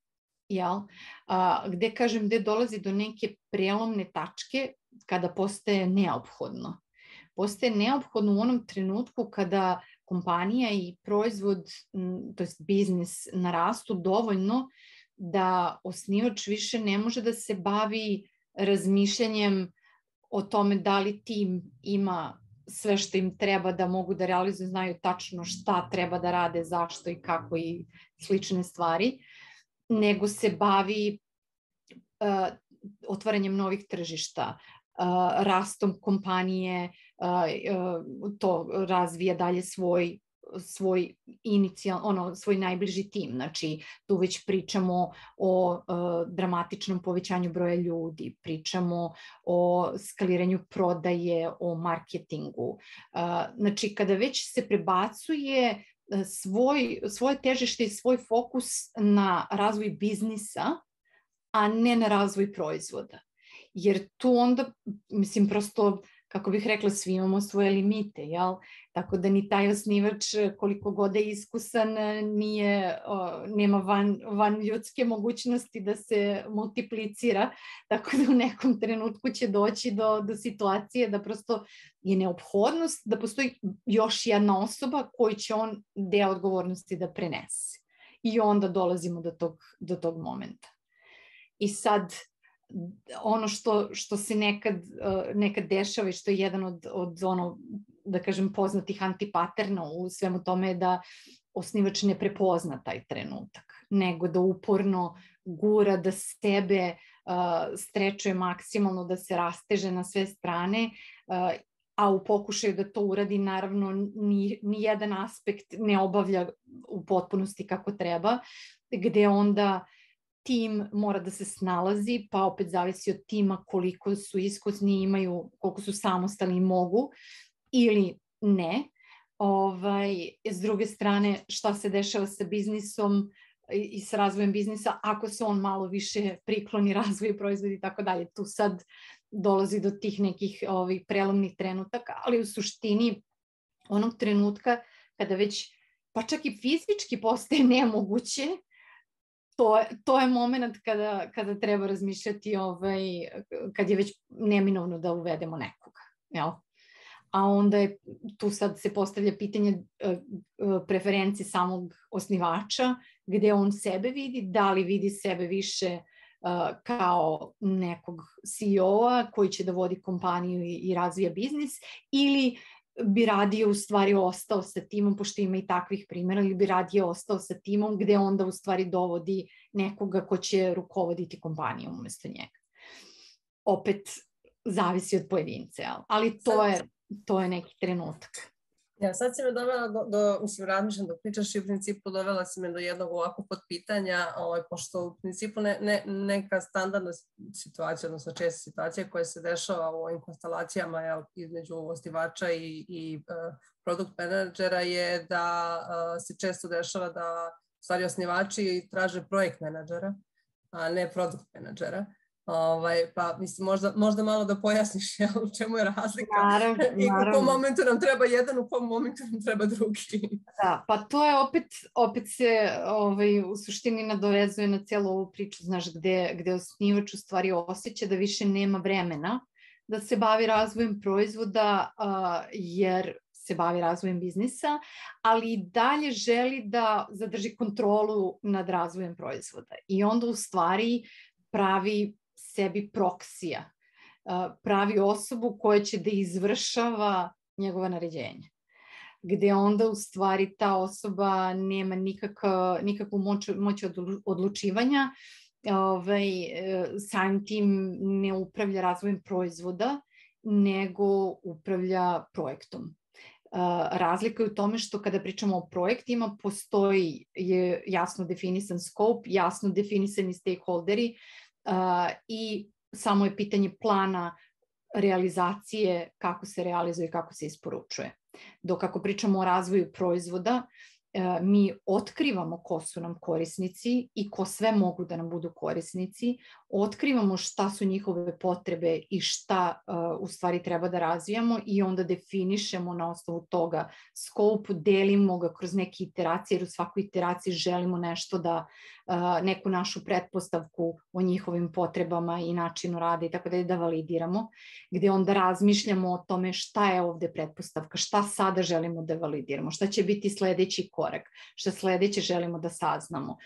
Jel? A, gde, kažem, gde dolazi do neke prelomne tačke kada postaje neophodno. Postaje neophodno u onom trenutku kada kompanija i proizvod, to jest biznis, narastu dovoljno da osnivač više ne može da se bavi razmišljanjem o tome da li tim ima sve što im treba da mogu da realizuju, znaju tačno šta treba da rade, zašto i kako i slične stvari, nego se bavi uh, otvaranjem novih tržišta, uh, rastom kompanije, uh, uh, to razvija dalje svoj svoj inicijal, ono, svoj najbliži tim. Znači, tu već pričamo o uh, dramatičnom povećanju broja ljudi, pričamo o skaliranju prodaje, o marketingu. Uh, znači, kada već se prebacuje svoj, svoje težište i svoj fokus na razvoj biznisa, a ne na razvoj proizvoda. Jer tu onda, mislim, prosto kako bih rekla, svi imamo svoje limite, jel? Tako da ni taj osnivač, koliko god je iskusan, nije, o, nema van, van ljudske mogućnosti da se multiplicira, tako da u nekom trenutku će doći do, do situacije da prosto je neophodnost da postoji još jedna osoba koju će on deo odgovornosti da prenese. I onda dolazimo do tog, do tog momenta. I sad, ono što, što se nekad, nekad dešava i što je jedan od, od ono da kažem, poznatih antipaterna u svemu tome je da osnivač ne prepozna taj trenutak, nego da uporno gura, da sebe uh, strečuje maksimalno, da se rasteže na sve strane, uh, a u pokušaju da to uradi, naravno, ni, ni jedan aspekt ne obavlja u potpunosti kako treba, gde onda tim mora da se snalazi, pa opet zavisi od tima koliko su iskusni, imaju, koliko su samostalni i mogu, ili ne. Ovaj, s druge strane, šta se dešava sa biznisom i sa razvojem biznisa, ako se on malo više prikloni razvoju proizvoda i tako dalje. Tu sad dolazi do tih nekih ovih prelomnih trenutaka, ali u suštini onog trenutka kada već, pa čak i fizički postaje nemoguće, to, to je moment kada, kada treba razmišljati, ovaj, kad je već neminovno da uvedemo nekoga, jel? A onda je, tu sad se postavlja pitanje preferencije samog osnivača, gde on sebe vidi, da li vidi sebe više uh, kao nekog C E O-a koji će da vodi kompaniju i, i razvija biznis, ili bi radije u stvari ostao sa timom, pošto ima i takvih primjera, ili bi radije ostao sa timom gde onda u stvari dovodi nekoga ko će rukovoditi kompanijom umesto njega. Opet zavisi od pojedince, ali to je, to je neki trenutak. Ja, sad si me dovela do, do mislim, razmišljam dok pričaš i u principu dovela si me do jednog ovako podpitanja, ovaj, pošto u principu ne, ne, neka standardna situacija, odnosno česta situacija koja se dešava u ovim konstalacijama, jel, između osnivača i, i uh, produkt menadžera je da uh, se često dešava da u stvari osnivači traže projekt menadžera, a ne produkt menadžera. Ovaj, pa mislim, možda, možda malo da pojasniš, jel, u čemu je razlika. Naravno, i naravno. u kom momentu nam treba jedan, u kom momentu nam treba drugi. Da, pa to je opet, opet se ovaj, u suštini nadovezuje na cijelu ovu priču, znaš, gde, gde osnivač u stvari osjeća da više nema vremena da se bavi razvojem proizvoda, uh, jer se bavi razvojem biznisa, ali i dalje želi da zadrži kontrolu nad razvojem proizvoda. I onda u stvari pravi sebi proksija, pravi osobu koja će da izvršava njegova naređenja, gde onda u stvari ta osoba nema nikakva, nikakvu moć, moć odlučivanja, ovaj, samim tim ne upravlja razvojem proizvoda, nego upravlja projektom. Razlika je u tome što kada pričamo o projektima postoji je jasno definisan scope, jasno definisani stakeholderi, Uh, i samo je pitanje plana realizacije, kako se realizuje i kako se isporučuje. Dok ako pričamo o razvoju proizvoda, uh, mi otkrivamo ko su nam korisnici i ko sve mogu da nam budu korisnici, otkrivamo šta su njihove potrebe i šta uh, u stvari treba da razvijamo i onda definišemo na osnovu toga scope, delimo ga kroz neke iteracije, jer u svakoj iteraciji želimo nešto da, uh, neku našu pretpostavku o njihovim potrebama i načinu rada i tako da je da validiramo, gde onda razmišljamo o tome šta je ovde pretpostavka, šta sada želimo da validiramo, šta će biti sledeći korak, šta sledeće želimo da saznamo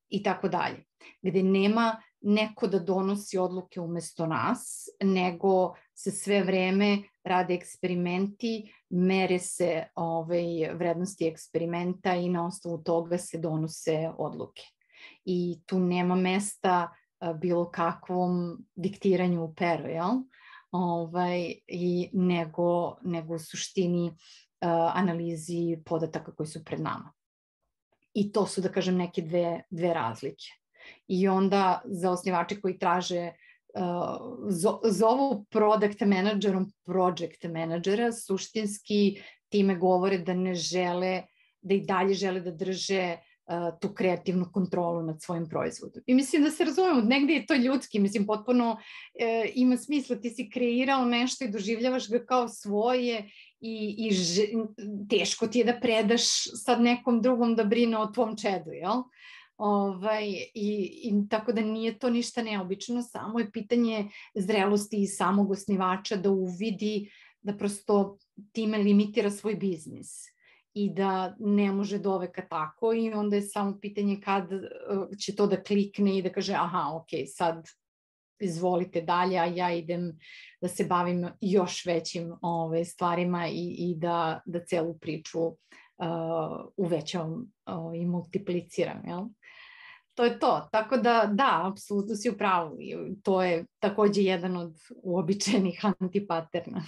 i tako dalje. Gde nema neko da donosi odluke umesto nas, nego se sve vreme rade eksperimenti, mere se ovaj, vrednosti eksperimenta i na osnovu toga se donose odluke. I tu nema mesta a, bilo kakvom diktiranju u pero, jel? Ovaj, i nego, nego u suštini a, analizi podataka koji su pred nama. I to su, da kažem, neke dve, dve razlike. I onda za osnivače koji traže, uh, zovu product managerom project managera, suštinski time govore da ne žele, da i dalje žele da drže uh, tu kreativnu kontrolu nad svojim proizvodom. I mislim da se razumemo, negdje je to ljudski, mislim potpuno uh, ima smisla, ti si kreirao nešto i doživljavaš ga kao svoje i, i ž, teško ti je da predaš sad nekom drugom da brine o tvom čedu, jel? Ovaj, i, i tako da nije to ništa neobično, samo je pitanje zrelosti i samog osnivača da uvidi da prosto time limitira svoj biznis i da ne može doveka tako i onda je samo pitanje kad će to da klikne i da kaže aha, ok, sad izvolite dalje, a ja idem da se bavim još većim ove, stvarima i, i da, da celu priču uh, uvećavam uh, i multipliciram, jel? To je to. Tako da, da, apsolutno si u pravu. To je takođe jedan od uobičajenih antipaterna.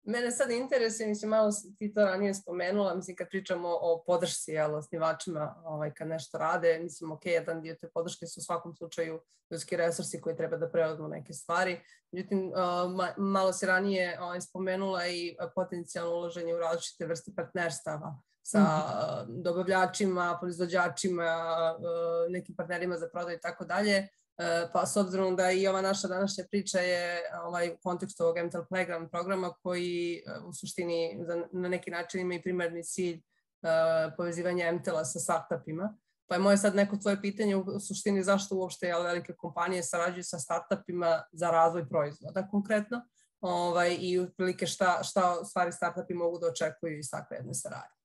Mene sad interesuje, mislim, malo ti to ranije spomenula, mislim, kad pričamo o podršci, jel, osnivačima, ovaj, kad nešto rade, mislim, ok, jedan dio te podrške su u svakom slučaju ljudski resursi koji treba da preuzmu neke stvari. Međutim, uh, malo si ranije ovaj, spomenula i potencijalno uloženje u različite vrste partnerstava sa mm-hmm. dobavljačima, proizvođačima, uh, nekim partnerima za prodaju i tako dalje. Pa s obzirom da i ova naša današnja priča je ovaj, u kontekstu ovog M T E L Playground programa koji u suštini na neki način ima i primarni cilj uh, povezivanja M T E L-a sa startupima. Pa je moje sad neko tvoje pitanje u suštini zašto uopšte jel, velike kompanije sarađuju sa startupima za razvoj proizvoda konkretno ovaj, i otprilike šta, šta stvari startupi mogu da očekuju iz takve jedne saradnje.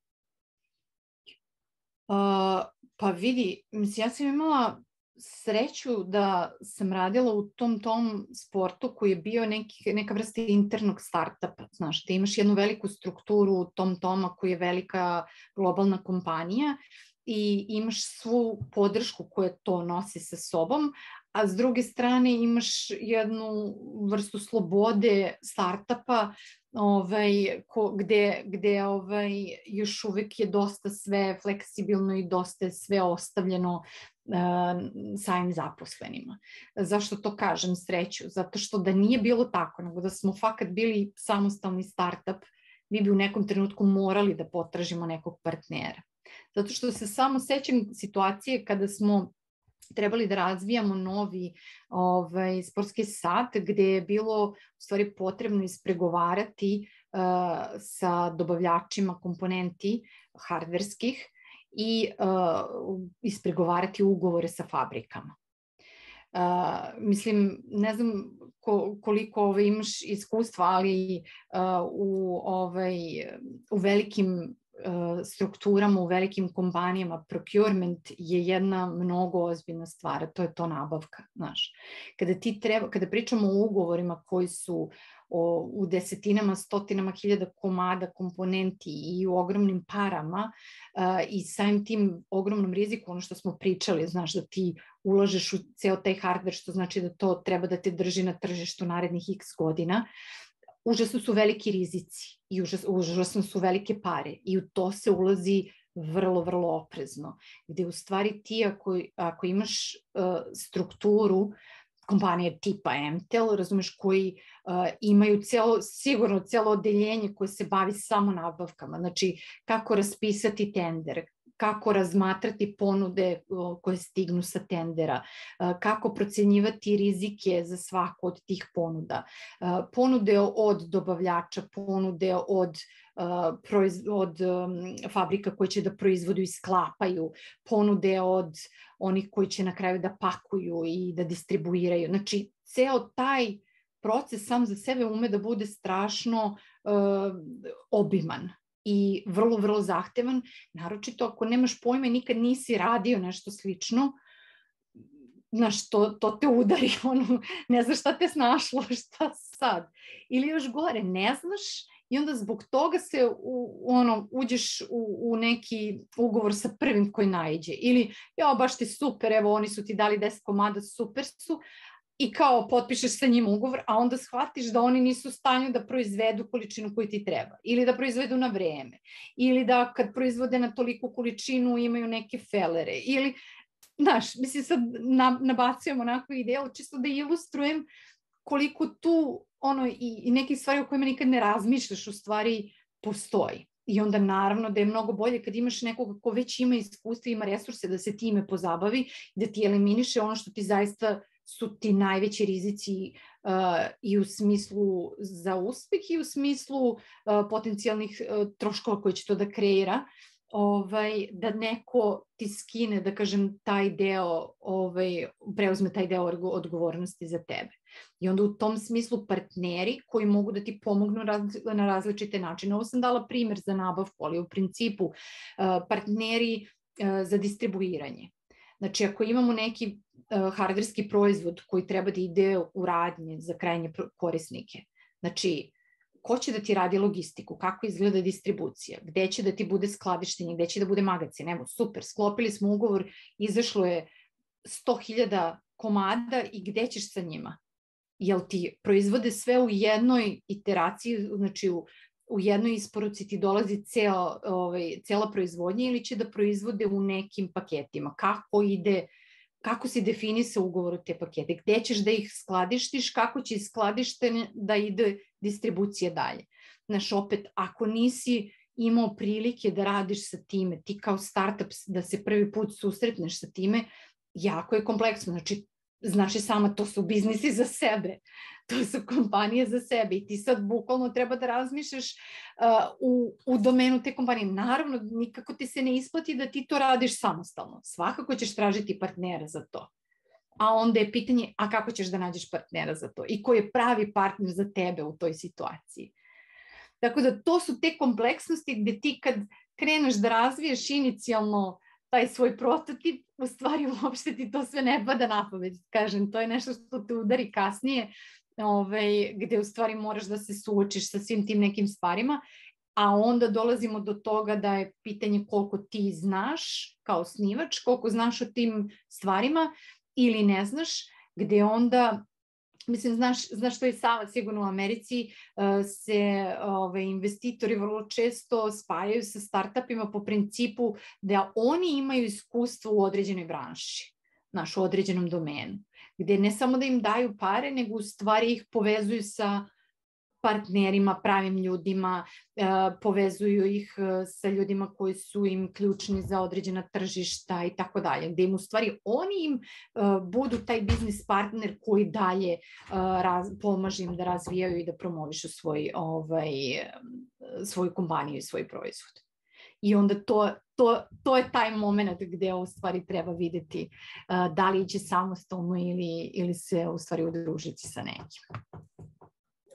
Uh, pa vidi, mislim, ja sam imala sreću da sam radila u tom tom sportu koji je bio neki, neka vrsta internog startupa, znaš, da imaš jednu veliku strukturu u tom toma koji je velika globalna kompanija i imaš svu podršku koja to nosi sa sobom, a s druge strane imaš jednu vrstu slobode startupa ovaj, ko, gde, gde ovaj, još uvek je dosta sve fleksibilno i dosta je sve ostavljeno uh, samim zaposlenima. Zašto to kažem sreću? Zato što da nije bilo tako, nego da smo fakat bili samostalni startup, mi bi u nekom trenutku morali da potražimo nekog partnera. Zato što se samo sećam situacije kada smo trebali da razvijamo novi ovaj, sportski sat gde je bilo u stvari potrebno ispregovarati uh, sa dobavljačima komponenti hardverskih i uh, ispregovarati ugovore sa fabrikama. Uh, mislim, ne znam ko, koliko ovaj, imaš iskustva, ali uh, u, ovaj, u velikim strukturama, u velikim kompanijama procurement je jedna mnogo ozbiljna stvar, to je to nabavka, znaš. Kada ti treba, kada pričamo o ugovorima koji su o, u desetinama, stotinama hiljada komada komponenti i u ogromnim parama uh, i samim tim ogromnom riziku, ono što smo pričali, znaš, da ti ulažeš u ceo taj hardware, što znači da to treba da te drži na tržištu narednih x godina, užasno su veliki rizici i užas, užasno su velike pare i u to se ulazi vrlo, vrlo oprezno. Gde u stvari ti ako, ako imaš uh, strukturu kompanije tipa M T E L, razumeš, koji uh, imaju celo, sigurno celo odeljenje koje se bavi samo nabavkama, znači kako raspisati tender, kako razmatrati ponude koje stignu sa tendera, kako procenjivati rizike za svaku od tih ponuda, ponude od dobavljača, ponude od, od fabrika koje će da proizvodu i sklapaju, ponude od onih koji će na kraju da pakuju i da distribuiraju. Znači, ceo taj proces sam za sebe ume da bude strašno uh, obiman i vrlo, vrlo zahtevan, naročito ako nemaš pojma i nikad nisi radio nešto slično, znaš, to, to te udari, ono, ne znaš šta te snašlo, šta sad. Ili još gore, ne znaš i onda zbog toga se u, ono, uđeš u, u neki ugovor sa prvim koji naiđe. Ili, ja, baš ti super, evo, oni su ti dali deset komada, super su, i kao potpišeš sa njim ugovor, a onda shvatiš da oni nisu u stanju da proizvedu količinu koju ti treba, ili da proizvedu na vreme, ili da kad proizvode na toliku količinu imaju neke felere, ili, znaš, mislim sad nabacujem onako ideju, čisto da ilustrujem koliko tu, ono, i, i neke stvari o kojima nikad ne razmišljaš u stvari postoji. I onda naravno da je mnogo bolje kad imaš nekoga ko već ima iskustva, ima resurse da se time pozabavi, da ti eliminiše ono što ti zaista su ti najveći rizici uh, i u smislu za uspeh i u smislu uh, potencijalnih uh, troškova koje će to da kreira, ovaj, da neko ti skine, da kažem, taj deo, ovaj, preuzme taj deo odgovornosti za tebe. I onda u tom smislu partneri koji mogu da ti pomognu raz, na različite načine. Ovo sam dala primer za nabavku, ali u principu uh, partneri uh, za distribuiranje. Znači, ako imamo neki hardverski proizvod koji treba da ide u radnje za krajnje korisnike. Znači, ko će da ti radi logistiku, kako izgleda distribucija, gde će da ti bude skladištenje, gde će da bude magacin. Evo, super, sklopili smo ugovor, izašlo je sto hiljada komada i gde ćeš sa njima? Jel ti proizvode sve u jednoj iteraciji, znači u, u jednoj isporuci ti dolazi ceo, ovaj, cela proizvodnja ili će da proizvode u nekim paketima? Kako ide, kako se definisa ugovor u te pakete? Gde ćeš da ih skladištiš? Kako će skladištenje da ide distribucija dalje? Znaš, opet, ako nisi imao prilike da radiš sa time, ti kao startup da se prvi put susretneš sa time, jako je kompleksno. Znači, znaš i sama, to su biznisi za sebe, to su kompanije za sebe i ti sad bukvalno treba da razmišljaš uh, u, u domenu te kompanije. Naravno, nikako ti se ne isplati da ti to radiš samostalno. Svakako ćeš tražiti partnera za to. A onda je pitanje, a kako ćeš da nađeš partnera za to? I ko je pravi partner za tebe u toj situaciji? Tako da to su te kompleksnosti gde ti kad kreneš da razviješ inicijalno taj svoj prototip, u stvari uopšte ti to sve ne pada na pamet. Kažem, to je nešto što te udari kasnije, ovaj, gde u stvari moraš da se suočiš sa svim tim nekim stvarima, a onda dolazimo do toga da je pitanje koliko ti znaš kao osnivač, koliko znaš o tim stvarima ili ne znaš, gde onda, mislim, znaš, znaš što je sama, sigurno u Americi uh, se ove, investitori vrlo često spajaju sa startupima po principu da oni imaju iskustvo u određenoj branši, znaš, u određenom domenu, gde ne samo da im daju pare, nego u stvari ih povezuju sa partnerima, pravim ljudima, povezuju ih sa ljudima koji su im ključni za određena tržišta i tako dalje, gde im u stvari oni im budu taj biznis partner koji dalje pomaže im da razvijaju i da promovišu svoj, ovaj, svoju kompaniju i svoj proizvod. I onda to, to, to je taj moment gde u stvari treba videti da li će samostalno ili, ili se u stvari udružiti sa nekim.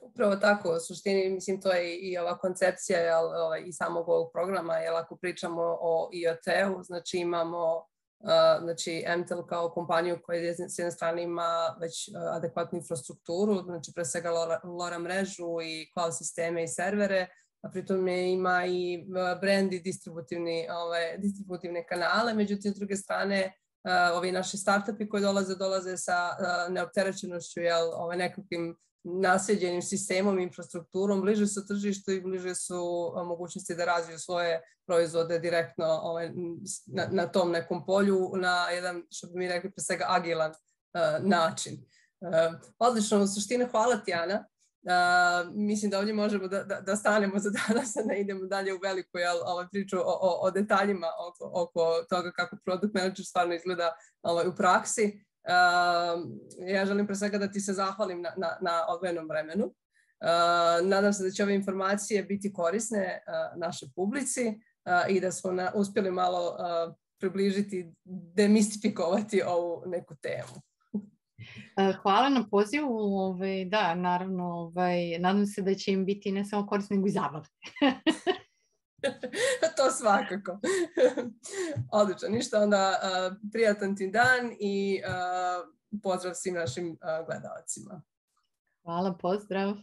Upravo tako, u suštini, mislim, to je i ova koncepcija jel, ovaj, i samog ovog programa, jer ako pričamo o I O T-u, znači imamo uh, znači M T E L kao kompaniju koja s jedne strane ima već uh, adekvatnu infrastrukturu, znači pre svega LoRa mrežu i cloud sisteme i servere, a pritom je, ima i brand i distributivni, ovaj, distributivne kanale, međutim, s druge strane, uh, ovi naši startupi koji dolaze, dolaze sa uh, neopterećenošću, jel, ovaj, nekakvim nasljeđenim sistemom, infrastrukturom, bliže su tržištu i bliže su mogućnosti da razviju svoje proizvode direktno ovaj, na, na tom nekom polju, na jedan, što bi mi rekli, pre svega agilan uh, način. Uh, odlično, u suštini, hvala ti, Ana. Uh, mislim da ovdje možemo da, da, da stanemo za danas, a ne idemo dalje u veliku jel, ovaj, priču o, o, o detaljima oko, oko toga kako product manager stvarno izgleda ovaj, u praksi. Uh, ja želim pre svega da ti se zahvalim na, na, na odvojenom vremenu. Uh, nadam se da će ove informacije biti korisne uh, našoj publici uh, i da smo na, uspjeli malo uh, približiti, demistifikovati ovu neku temu. Hvala na pozivu, ovaj, da, naravno, ovaj, nadam se da će im biti ne samo korisno, nego i zabavno. To svakako. Odlično, ništa onda uh, prijatan ti dan i uh, pozdrav svim našim uh, gledalcima. Hvala, pozdrav.